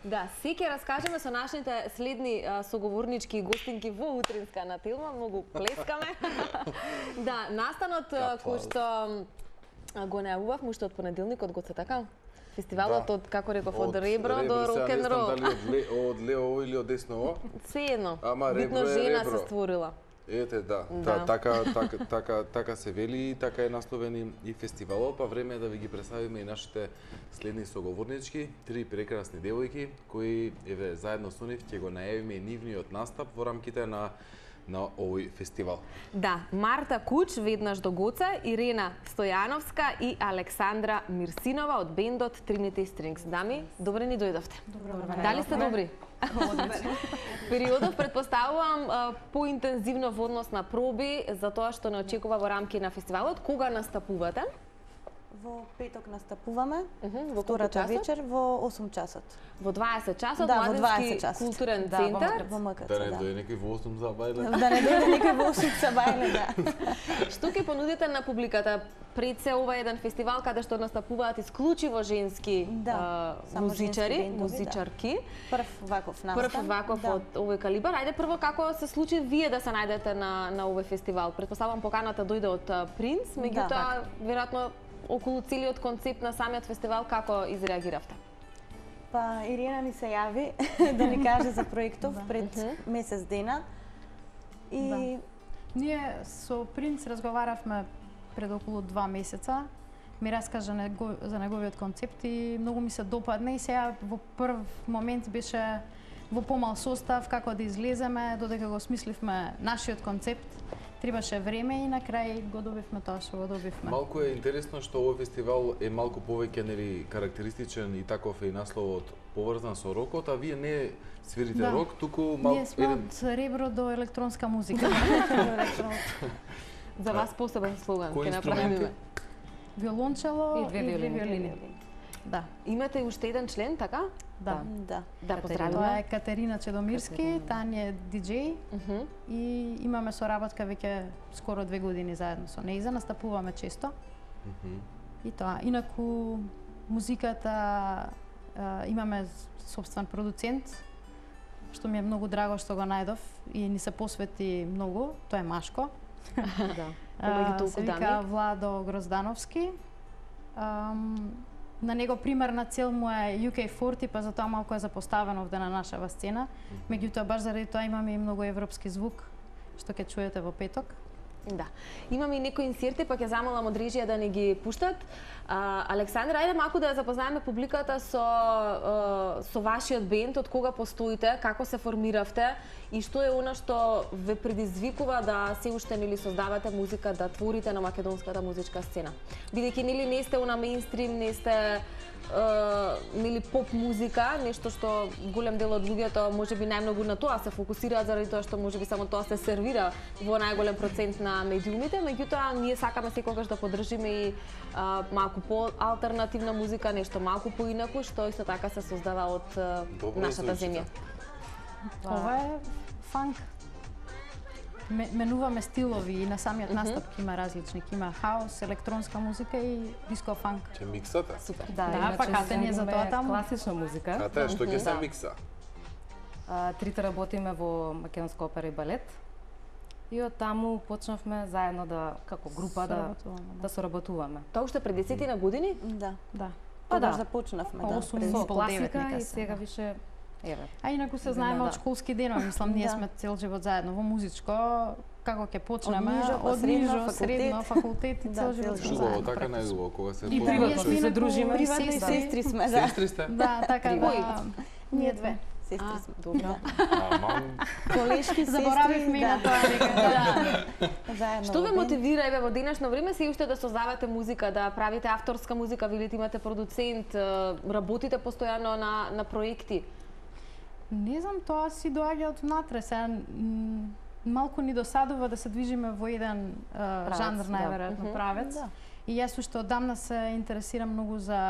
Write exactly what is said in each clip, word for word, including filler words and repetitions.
Да, се ќе раскажеме со нашите следни а, соговорнички и гостинки во утринска на Телма, многу плескаме. Да, настанот кој што го најавувавме уште од понеделникот, го се така? Фестивалот од, како реков, од ребро до рок-н-рол. Дали од лево или од десно? Се едно. Ама битно ребро е жена ребро. се створила. Ете, да. Да. Та, така, така, така, така се вели и така е насловен и, и фестивалот, па време е да ви ги представиме и нашите следни соговорнички, три прекрасни девојки кои еве заедно со нив ќе го најавиме и нивниот настап во рамките на на овој фестивал. Да, Марта Куч, веднаш до Гоца, Ирена Стојановска и Александра Мирсинова од бендот Trinity Strings. Дами, добре ни дојдовте. Добре. Дали сте добри? Периодов предпоставувам поинтензивно во однос на проби за тоа што не очекува во рамки на фестивалот. Кога настапувате? Во петок настапуваме, Во втората колку вечер во осум часот. Во дваесет часот, Да, во Младенски дваесет часот. културен Да, центар. во МКЦ, Да не да. дојде некој во осум за бајле. Да не дојде некој во осум за бајле, да. Што ќе понудите на публиката пред се ова еден фестивал каде што настапуваат исклучиво женски Да, а, само музичари, женски бендови, музичарки. Прв ваков настан. Прв ваков да. од овој калибар. Ајде прво како се случи вие да се најдете на на овој фестивал? Претпоставам поканата дојде од а, Принц, меѓутоа Да. веројатно околу целиот концепт на самиот фестивал како изреагиравте? Па Ирина ни се јави да ни каже за проектов пред месец дена. И Да. Ние со Принц разговаравме пред околу два месеца. Ми раскажа него, за неговиот концепт и многу ми се допадна и сега во прв момент беше во помал состав како да излеземе, додека го смисливме нашиот концепт. Требаше време и на крај го добивме тоа што го добивме. Малку е интересно што овој фестивал е малку повеќе нели карактеристичен и таков е и насловот поврзан со рокот, а вие не свирите Да. рок, туку малку Ние сме од ребро до електронска музика. За вас посебен слоган Кои ќе инструменти? направиме. Виолончело И две виолини. виолини. Да, Имате уште еден член, така? да. да. Да, Тоа поздравиме. е Катерина Чедомирски, таа ни е диџеј Мгм. и имаме соработка веќе скоро две години заедно со нејза, настапуваме често. И тоа, инаку музиката а, имаме собствен продуцент, што ми е многу драго што го најдов и ни се посвети многу, тоа е Машко. Да. А, Помеѓу толку се вика дами. Владо Гроздановски. Ам, на него примерна цел му е ю кей форти, па затоа малку е запоставено овде на нашава сцена. Меѓутоа, баш заради тоа имаме и многу европски звук, што ќе чуете во петок. Да. Имаме и некои инсерти, па ќе замолам од режија да ни ги пуштат. А, Александра, ајде малку да ја запознаеме публиката со а, со вашиот бенд, од кога постоите, како се формиравте и што е она што ве предизвикува да се уште нели создавате музика, да творите на македонската музичка сцена. Бидејќи нели не сте она меинстрим, не сте Uh, нели поп музика, нешто што голем дел од луѓето можеби најмногу на тоа се фокусираат заради тоа што можеби само тоа се сервира во најголем процент на медиумите, меѓутоа ние сакаме секогаш да поддржиме и uh, малку по алтернативна музика, нешто малку поинаку што исто така се создава од uh, Добро нашата звучи, земја. Ова е фанк. Ме- Менуваме стилови и на самиот настап ќе има различни. Ќе има хаос, електронска музика и диско фанк. Ќе миксате? Супер. Да, Да, иначе па кате ни е се за тоа таму. класична музика. А тоа што ќе се Да. микса? А, трите работиме во Македонска опера и балет. И од таму почнавме заедно да како група да Соработуваме, да. да соработуваме. Тоа уште пред десетина години? Да. Да. Па Тогаш да. започнавме, Па да. осум пред- Со по девет класика нека и се, сега да. више еве. А инаку се знаеме Да. од школски денови, мислам, ние Да. сме цел живот заедно во музичко, како ќе почнеме, Од нижо, па од средно, нижо, факултет. средно, факултет и Да, цел цел живот живот. сме Убаво, заедно. така практично. најубаво кога се И почнува приватно Ние се сме дружиме. Приватно и сестри. сестри сме, да. Сестри сте? Да, така да. Кои? Ние две. Сестри А, сме. добро. Ама Колешки сестри. Заборавивме и на тоа дека да. Заедно. Што во ве бенд. мотивира еве во денешно време се уште да создавате музика, да правите авторска музика, велите имате продуцент, е, работите постојано на на проекти? Не знам, тоа си доаѓа од внатре. Сега м, малку ни досадува да се движиме во еден е, жанр, да. најверојатно правец. Да. И јас уште одамна се интересирам многу за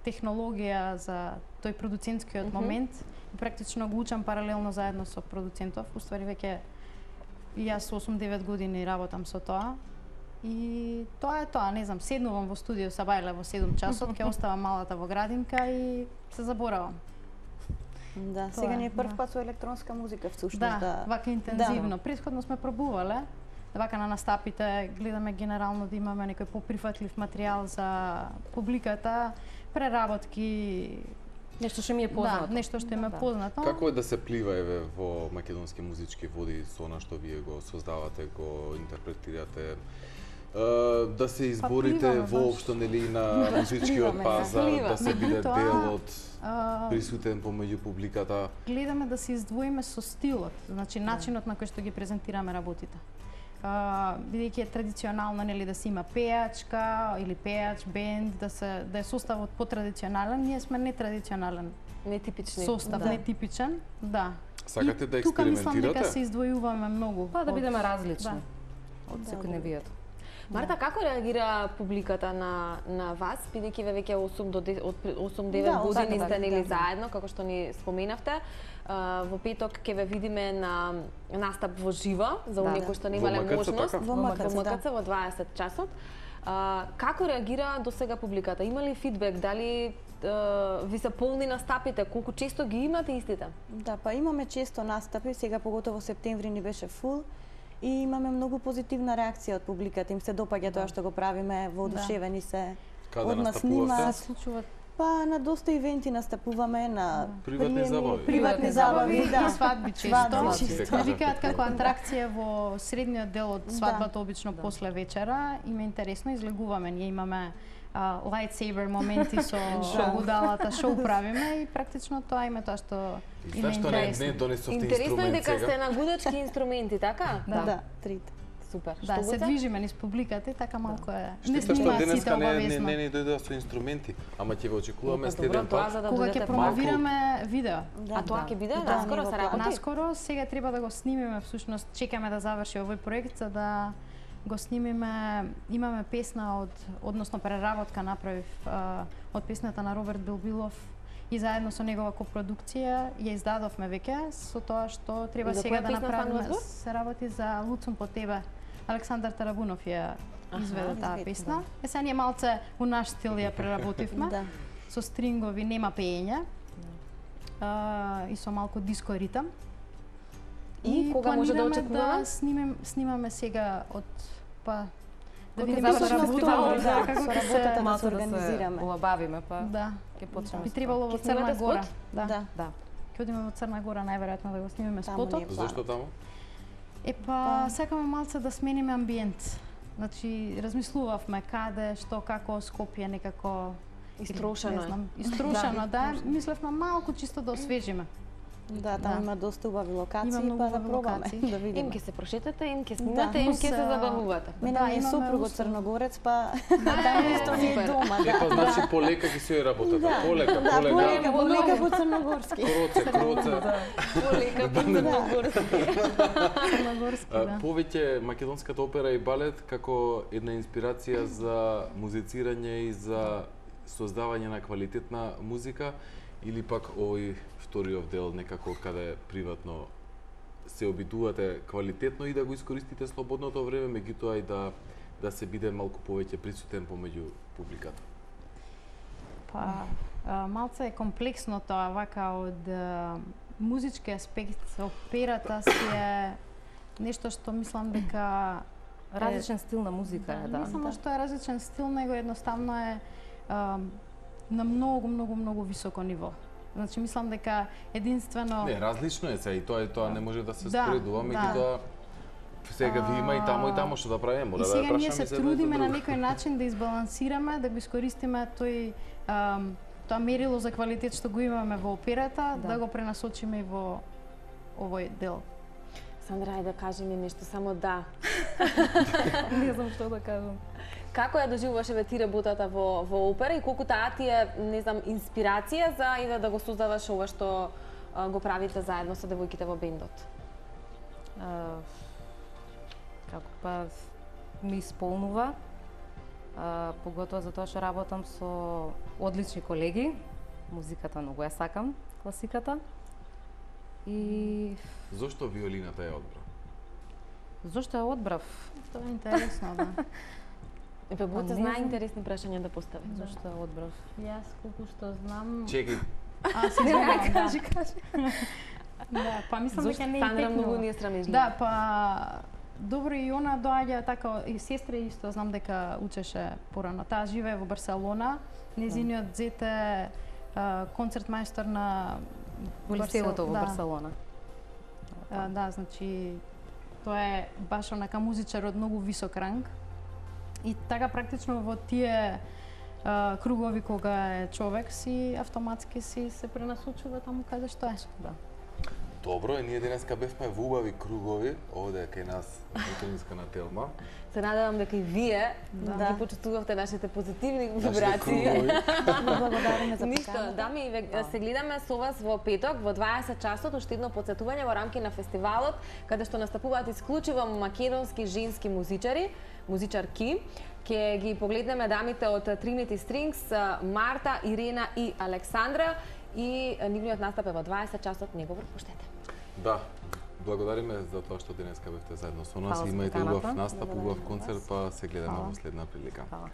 технологија, за тој продуцентскиот момент. И практично го учам паралелно заедно со продуцентов. Уствари веќе и јас со осум-девет години работам со тоа. И тоа е тоа, не знам, седнувам во студио са бајле во седум часот, ќе оставам малата во градинка и се заборавам. Да, Тоа сега е, ни е прв да. пат со електронска музика всушност. Да, Да, вака интензивно. Предходно сме пробувале, вака на настапите гледаме генерално да имаме некој поприфатлив материјал за публиката, преработки, Нешто што ми е познато. да, нешто што им е Да. познато. Како е да се плива еве во македонски музички води со она што вие го создавате, го интерпретирате? Uh, да се изборите пливаме, воопшто нели на музичкиот пливаме, да. пазар, Плива. да се биде Меѓутоа, дел од а, присутен помеѓу публиката. гледаме да се издвоиме со стилот, значи начинот на кој што ги презентираме работите. Uh, бидејќи е традиционално нели да се има пејачка или пејач, бенд, да се да е составот потрадиционален, ние сме нетрадиционален Нетипични. состав, Да. нетипичен, да. Сакате И да тука мислам дека експериментирате? се издвојуваме многу. Па да од- бидеме различни Да. од Да, секој да. невието. Марта, како реагира публиката на на вас, бидејќи ве веќе осум до десет, од осум девет Да, години така, сте така, нели да. заедно, како што ни споменавте. А, во петок ќе ве видиме на настап во живо, за Да, оние да. кои што Во немале МКЦ, можност. така? Во Во МКЦ, МКЦ да. во дваесет часот. А, како реагира до сега публиката? Има ли фидбек? Дали а, ви се полни настапите? Колку често ги имате истите? Да, па имаме често настапи, сега поготово септември ни беше фул и имаме многу позитивна реакција од публиката. Им се допаѓа тоа што го правиме, воодушевени се. Каде Од нас настапувавте? снима, Се случуваат па на доста ивенти настапуваме, на Приватни приеми, забави. Приватни забави, да. и свадби често. Свадби често. често. Не викаат како атракција во средниот дел од Да. свадбата, обично после вечера. Им е интересно, излегуваме. Ние имаме а, lightsaber моменти со гудалата, шоу правиме и практично тоа име тоа што им е Знаеш што не, интересно. не донесовте Интересно е инструмент дека сте сега? на гудачки инструменти, така? Да, Да. да, трите. Супер. Да, Што се гуте? движиме низ публиката и така малку е. Не Штета што снимаат сите денеска не, не, обавезно. не ни дојдоа со инструменти, ама ќе ве очекуваме Па, следен добро, тоа пат. за да Кога додадете ќе малку. промовираме видео. Да. А тоа Да. ќе биде Да, наскоро ние се во работи? Наскоро сега треба да го снимиме, всушност чекаме да заврши овој проект за да го снимиме. Имаме песна од, односно преработка направив а, од песната на Роберт Билбилов и заедно со негова копродукција ја издадовме веќе, со тоа што треба И за сега која да песна станува направиме. збор? Се работи за Луцум по тебе. Александар Тарабунов ја изведе таа изведе, песна. Е сега ние малце у наш стил ја преработивме. Да. Со стрингови, нема пеење. А, и со малку диско ритам. И кога може да планираме очекуваме? Да снимем, снимаме сега од па да Кога видиме ќе со заврши работата, фестивалот, да, да, како со ќе работата се да Малку се да се организираме. улабавиме, па да. ќе почнеме. Би со требало во Ќе Црна снимате Гора. спот? Да. Да. Да. Ќе одиме во Црна Гора најверојатно да го снимиме Таму спотот. ни е Зошто таму? Е па сакаме малце да смениме амбиент. Значи размислувавме каде, што, како Скопје некако Истрошено не е. знам, иструшено, да. Мислевме малку чисто да освежиме. Да, таму Да. има доста убави локации, Има многу па да убави пробаме локации. да Им видиме. ќе се прошетате, им ќе снимате, Да. им ќе се Плюс, а, забавувате. Мене Да, ми е имаме сопругот услов. Црногорец, па таму исто ми е Супер. дома, Е, па да. значи полека ќе се ја работата. Да, Полека, да, полека. полека, полека по црногорски. Кроце, кроце. Полека по црногорски. Црногорски, А, да. Повеќе македонската опера и балет како една инспирација за музицирање и за создавање на квалитетна музика или пак овој вториот дел некако каде приватно се обидувате квалитетно и да го искористите слободното време, меѓутоа и да да се биде малку повеќе присутен помеѓу публиката. Па, а, малце е комплексно тоа, вака од а, музички аспект, операта си е нешто што мислам дека Различен стил на музика е, да. Не само што е различен стил, него едноставно е а, на многу, многу, многу високо ниво. Значи мислам дека единствено Не, различно е се и тоа и тоа не може да се Да, споредува, да. меѓутоа сега ви има и таму и таму што да правиме, мора И да ја сега ние прашаме се за едно и за трудиме на друго. некој начин да избалансираме, да го искористиме тој ам, тоа мерило за квалитет што го имаме во операта, да, Да. да го пренасочиме и во овој дел. Сандра, ајде да кажи ми нешто, само да. Не знам што да кажам. Како ја доживуваше ве ти работата во во опера и колку таа ти е, не знам, инспирација за и да, да го создаваш ова што а, го правите заедно со девојките во бендот? А, како па ми исполнува, а, поготоа затоа што работам со одлични колеги. Музиката многу ја сакам, класиката. И Зошто виолината ја одбра? зошто ја одбрав? Тоа е интересно, да. Епе, Па Боце не знае знам. интересни прашања да постави. Зошто ја одбрав? Јас колку што знам, Чекај, А, се Не, не, извинувам, да. кажи, кажи. Да, па мислам Зошто дека не е Сандра текнува. многу ни е срамежлива? Да, па добро и она доаѓа така и сестра исто знам дека учеше порано. Таа живее во Барселона. Незиниот зет е а, концертмајстор на Во лицеото во да. Барселона. А, да, значи тоа е баш онака музичар од многу висок ранг. И така практично во тие а, кругови кога е човек си автоматски си се пренасочува таму каде што е. Да. Добро, и ние денеска бевме во убави кругови, овде кај нас Утинска на Телма. Се надевам дека и вие Да. ги почувствувавте нашите позитивни Нашите вибрации. кругови. Благодариме за Ништо, поканата. дами, ве- се гледаме со вас во петок во дваесет часот, уште едно потсетување во рамки на фестивалот, каде што настапуваат исклучиво македонски женски музичари, музичарки. Ќе ги погледнеме дамите од Trinity Strings, Марта, Ирена и Александра, и нивниот настап е во дваесет часот, не го пропуштете. Да, благодариме за тоа што денеска бевте заедно со нас. Фала за Имајте поканата. убав настап, убав Благодариме на концерт, вас. па се гледаме Фала. во следна прилика. Фала.